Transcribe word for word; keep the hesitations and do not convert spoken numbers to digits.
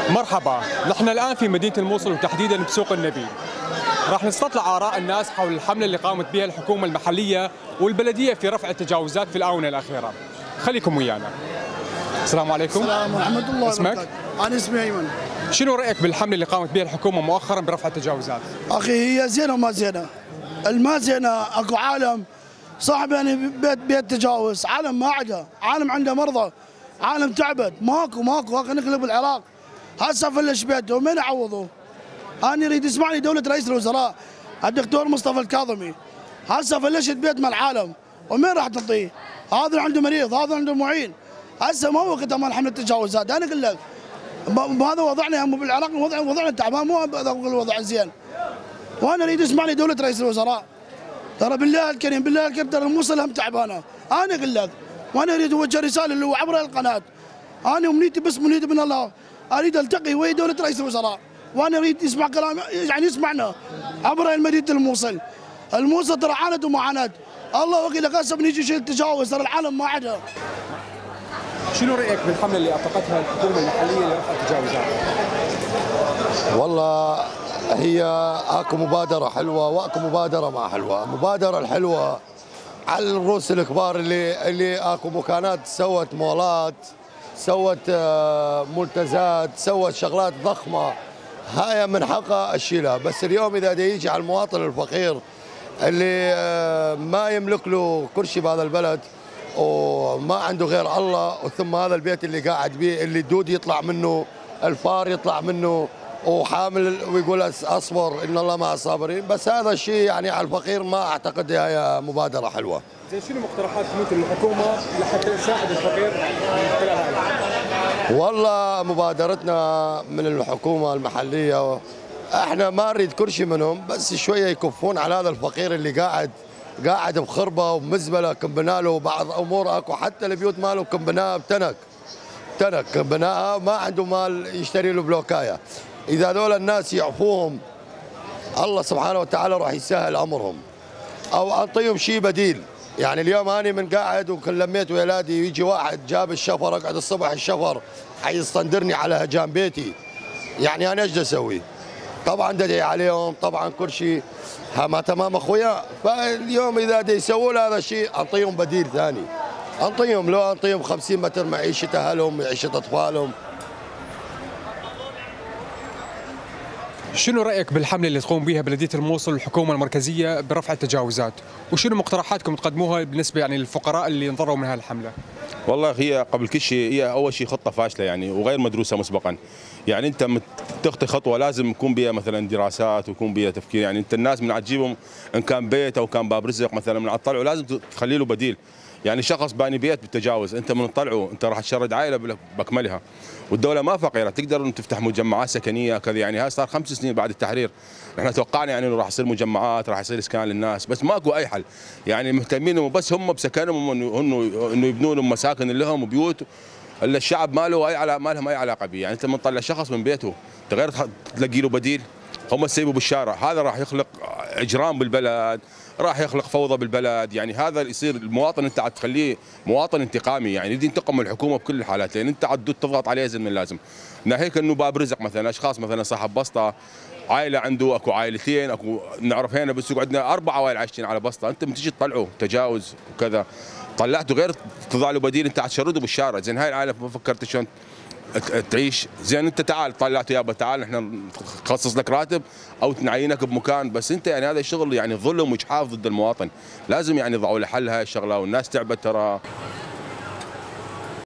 مرحبا، نحن الآن في مدينة الموصل وتحديدا بسوق النبيل. راح نستطلع آراء الناس حول الحملة اللي قامت بها الحكومة المحلية والبلدية في رفع التجاوزات في الآونة الأخيرة. خليكم ويانا. السلام عليكم. السلام ورحمة الله اسمك؟ وبركاته. أنا اسمي أيمن. شنو رأيك بالحملة اللي قامت بها الحكومة مؤخرا برفع التجاوزات؟ أخي هي زينة وما زينة. الما زينة أكو عالم صاحب يعني بيت بيت تجاوز، عالم ما عدا، عالم عنده مرضى، عالم تعبت، ماكو ماكو اخي نخلق بالعراق. هسه فلش بيته من يعوضوه؟ انا اريد يسمعني دولة رئيس الوزراء الدكتور مصطفى الكاظمي. هسه فلشت بيت مال العالم ومين راح تعطيه؟ هذا عنده مريض، هذا عنده معين. هسه ما وقتها مال حملة التجاوزات، انا اقول لك بهذا وضعنا هم بالعراق وضع وضعنا تعبان مو الوضع زين. وانا اريد يسمعني دولة رئيس الوزراء. ترى بالله الكريم بالله الكريم ترى الموصل هم تعبانه، انا اقول لك وانا اريد اوجه رساله اللي هو عبر القناه. انا امنيتي بس منيتي من الله اريد التقي ويا دوله رئيس الوزراء، وانا اريد يسمع كلام يعني يسمعنا عبر مدينه الموصل. الموصل ترى عانت ومعاناه، الله وكيلك هسه بنيجي شيء التجاوز ترى العالم ما عدا. شنو رأيك بالحملة اللي أطلقتها الحكومة المحلية لرفع التجاوزات؟ والله هي اكو مبادرة حلوة واكو مبادرة ما حلوة. المبادرة الحلوة على الرؤوس الكبار اللي اللي اكو مكانات سوت مولات، سوت منتزات، سوت شغلات ضخمة، هاي من حقها اشيلها. بس اليوم اذا دا يجي على المواطن الفقير اللي ما يملك له كل شيء بهذا البلد وما عنده غير الله، وثم هذا البيت اللي قاعد بيه اللي الدود يطلع منه، الفار يطلع منه، وحامل ويقول اصبر ان الله مع الصابرين. بس هذا الشيء يعني على الفقير ما اعتقد هي مبادره حلوه. زين شنو مقترحات ممكن الحكومه لحتى تساعد الفقير من خلال هاي؟ والله مبادرتنا من الحكومه المحليه احنا ما نريد كل شيء منهم، بس شويه يكفون على هذا الفقير اللي قاعد قاعد بخربه ومزبله كمبنا له بعض امور. اكو حتى البيوت ماله كمبناها بتنك تنك كمبناها ما عنده مال يشتري له بلوكايه. إذا هذول الناس يعفوهم الله سبحانه وتعالى راح يسهل أمرهم، أو أعطيهم شيء بديل. يعني اليوم أنا من قاعد وكل لميت ولادي ويجي واحد جاب الشفر، أقعد الصبح الشفر حيستندرني على هجام بيتي، يعني أنا إيش أسوي؟ طبعا ددعي عليهم طبعا كل شيء ما تمام أخويا. فاليوم إذا دا يسووا هذا الشيء أعطيهم بديل ثاني، أعطيهم لو أعطيهم خمسين متر معيشة أهلهم معيشة أطفالهم. شنو رأيك بالحملة اللي تقوم بها بلدية الموصل والحكومة المركزية برفع التجاوزات؟ وشنو مقترحاتكم تقدموها بالنسبة يعني للفقراء اللي انضروا من هذه الحملة؟ والله هي قبل كل شيء هي أول شيء خطة فاشلة يعني وغير مدروسة مسبقا. يعني أنت تخطي خطوة لازم يكون بها مثلا دراسات ويكون بها تفكير. يعني أنت الناس من عتجيبهم إن كان بيت أو كان باب رزق مثلا من عطلعه لازم تخلي له بديل. يعني شخص باني بيت بالتجاوز انت من تطلعه انت راح تشرد عائله باكملها، والدوله ما فقيره تقدر ان تفتح مجمعات سكنيه كذا. يعني هاي صار خمس سنين بعد التحرير، احنا توقعنا يعني انه راح يصير مجمعات راح يصير اسكان للناس، بس ماكو اي حل. يعني مهتمين بس هم بسكنهم انه انه يبنوا لهم مساكن لهم وبيوت، الا الشعب ما له اي علاقه ما لهم اي علاقه به. يعني انت من تطلع شخص من بيته انت غير تلاقي له بديل، هم تسيبوا بالشارع، هذا راح يخلق اجرام بالبلد، راح يخلق فوضى بالبلد. يعني هذا يصير المواطن انت عاد تخليه مواطن انتقامي، يعني يدي ينتقم من الحكومه بكل الحالات، لان انت عاد تضغط عليه زين من اللازم. ناهيك انه باب رزق مثلا اشخاص مثلا صاحب بسطه عائله عنده اكو عائلتين اكو نعرف هنا بس عندنا اربع عوائل عايشين على بسطه، انت بتجي تطلعه تجاوز وكذا طلعته غير تضع له بديل انت عاد تشرده بالشارع. زين هاي العائله ما فكرت شلون تعيش؟ زين انت تعال طلعته يابا تعال احنا نخصص لك راتب او نعينك بمكان، بس انت يعني هذا الشغل يعني ظلم واجحاف ضد المواطن، لازم يعني يضعوا له حل هاي الشغله والناس تعبت ترى.